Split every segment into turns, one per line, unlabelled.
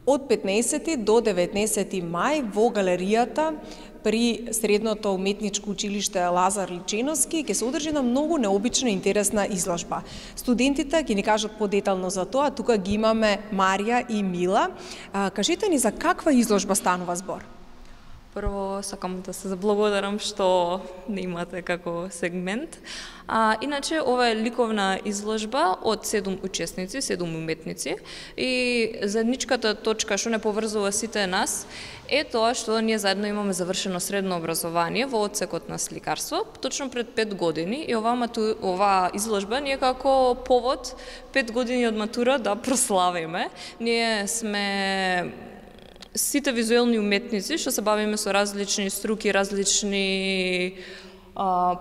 Од 15 до 19 мај во галеријата при Средното уметничко училиште Лазар Личиновски ќе се одржи една многу необична и интересна изложба. Студентите ќе ни кажат подетално за тоа, тука ги имаме Марија и Мила. Кажете ни за каква изложба станува збор?
Прво сакам да се заблагодарам што не имате како сегмент. Иначе ова е ликовна изложба од 7 учесници, 7 уметници и заедничката точка што не поврзува сите нас е тоа што ние заедно имаме завршено средно образование во одсекот на сликарство точно пред 5 години и оваа изложба ни е како повод 5 години од матура да прославиме. Ние сме сите визуелни уметници што се бавиме со различни струки, различни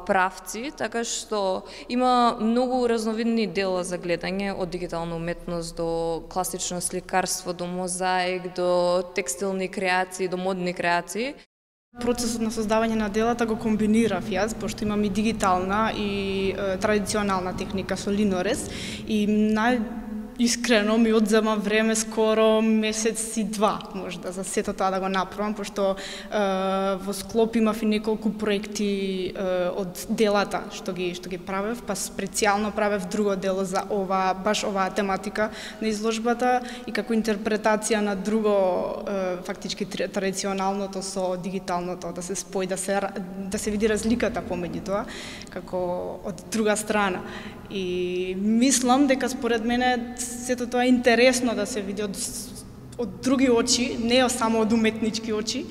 правци, така што има многу разновидни дела за гледање, од дигитална уметност до класично сликарство, до мозаик, до текстилни креации, до модни креации.
Процесот на создавање на делата го комбинирав јас, пошто имам и дигитална и традиционална техника со линорез и искрено ми одзема време, скоро месец и два, можда, за сето тоа да го направам, пошто во склоп имав и неколку проекти од делата што ги правев, па специјално правев друго дело за баш оваа тематика на изложбата и како интерпретација на друго, фактички традиционалното со дигиталното, да се спои, да се види разликата помеѓу тоа, како од друга страна. И мислам дека според мене сето тоа е интересно да се види од други очи, не само од уметнички очи.